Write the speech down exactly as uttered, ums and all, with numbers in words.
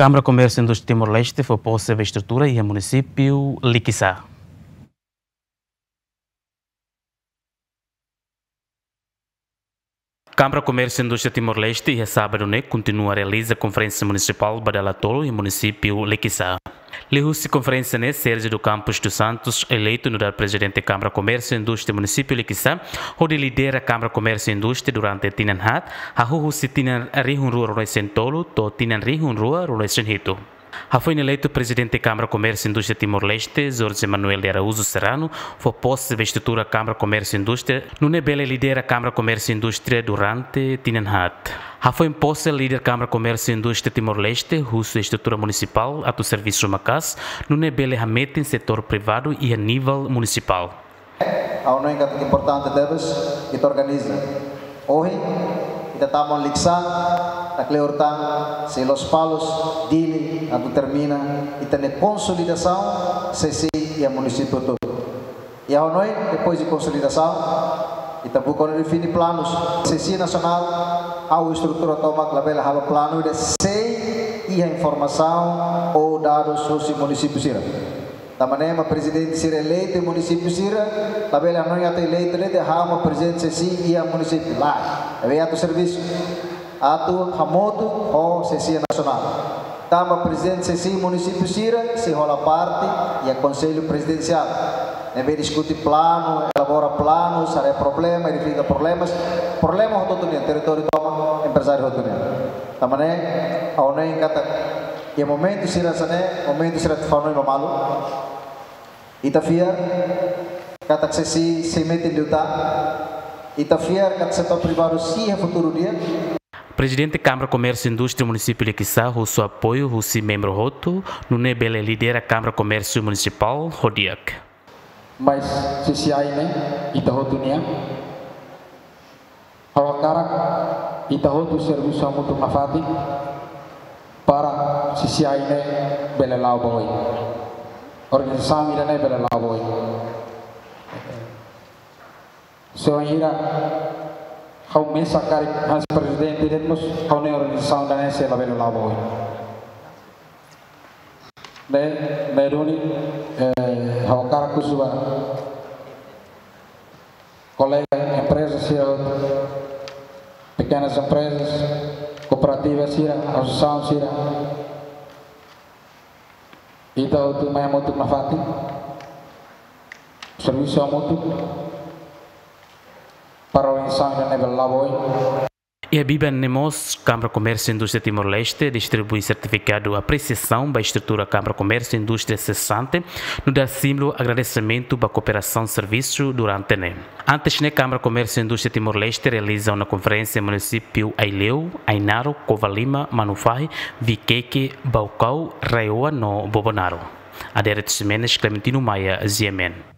Kámara Komérsiu Indústria Timor-Leste fó pose ba estrutura iha munisípiu Likisá. Kámara Komérsiu Indústria Timor-Leste iha sábadu ne'e kontinua realiza konferénsia munisipál ba dala tolu iha munisípiu Likisá. Liuhusi konferénsia ne'e, Sérgio do Campos dos Santos, eleitu nu'udar Prezidente Kámara Komérsiu Indústria munisípiu Likisá, hodi lidera Kámara Komérsiu Indústria durante tinan haat, hahú husi tinan rihun rua ruanulu-resin-tolu to'o tinan rihun rua ruanulu-resin-hitu. Hafoin eleitu Prezidente Kámara Komérsiu Indústria Timor-Leste, Jorge Manuel de Araújo Serrano, fó pose ba estrutura Kámara Komérsiu Indústria, nune'e bele lidera Kámara Komérsiu Indústria durante tinan haat. Hafoin pose, líder Kámara Komérsiu Indústria Timor-Leste husu estrutura munisipál atu servisu maka'as, nune'e bele hametin setór privadu iha nivel munisipál. Ha'u hanoin katak importante tebes ita organiza. Ohin, ita tama Likisá, ita kleur tan, sei Lospalos, Dili, atu termina ita-nia konsolidasaun C C I iha munisípiu hotu. I ha'u hanoin, depois de konsolidasaun, ita buka hodi define planus. C C I nasionál, ha'u estrutura tomak labele halo planu ida sem iha informasaun ou dadus husi munisípiu sira. Tanba ne'e mak prezidente sira eleitu munisípiu sira, labele hanoin atu eleitu de'it ha'u mak prezidente C C I iha munisípiu. Lae, ne'ebé atu servisu, atu hamutuk ho C C I nasionál. Tanba prezidente C C I munisípiu sira sei hola parte iha Konsellu Prezidensiál, ne'ebé diskute planu, elabora planu, haree problema, identifika problemas, problema hotu-hotu nian, territóriu tomak, emprezáriu hotu nian. Tanba ne'e, ha'u hanoin katak iha momentu sira hanesan ne'e, momentu sira atu fó hanoin ba malu. Ita fiar katak C C I sei metin liután. Ita fiar katak setór privadu sei iha futuru di'ak. Prezidente Kámara Komérsiu Indústria Munisípiu Likisá husu apoiu husi membru hotu, nune'e bele lidera Kámara Komérsiu Munisipál ho di'ak. Mas C C I ne'e ita hotu nian. Ha'u hakarak ita hotu servisu hamutuk nafatin para C C I ne'e bele la'o ba oin. Organizasaun ida-ne'e bele la'o ba oin. Se wainhira ha'u mesak karik hanesan prezidente de'it mós, ha'u hanoin organizasaun ida-ne'e sei labele la'o ba oin. Ne'e, ne'e duni, eh, ha'u hakarak husu ba kolega empreza sira, pekenas emprezas, kooperativa sira, asosiasaun sira. Ita hotu mai hamutuk nafatin, servisu hamutuk para organizasaun ida-ne'e bele la'o ba oin. Iha biban ne'e mós, Kámara Komérsiu Indústria Timor-Leste distribui sertifikadu apresiasaun ba estrutura Kámara Komérsiu Indústria sesante, nu'udar símbolu agradesimentu ba kooperasaun servisu durante ne'e. Antes ne'e, Kámara Komérsiu Indústria Timor-Leste realiza ona konferénsia munisípiu Aileu, Ainaro, Covalima, Manufahi, Viqueque, Baucau, Raioa no Bobonaro. Adérito Ximenes, Clementino Maia, G M N.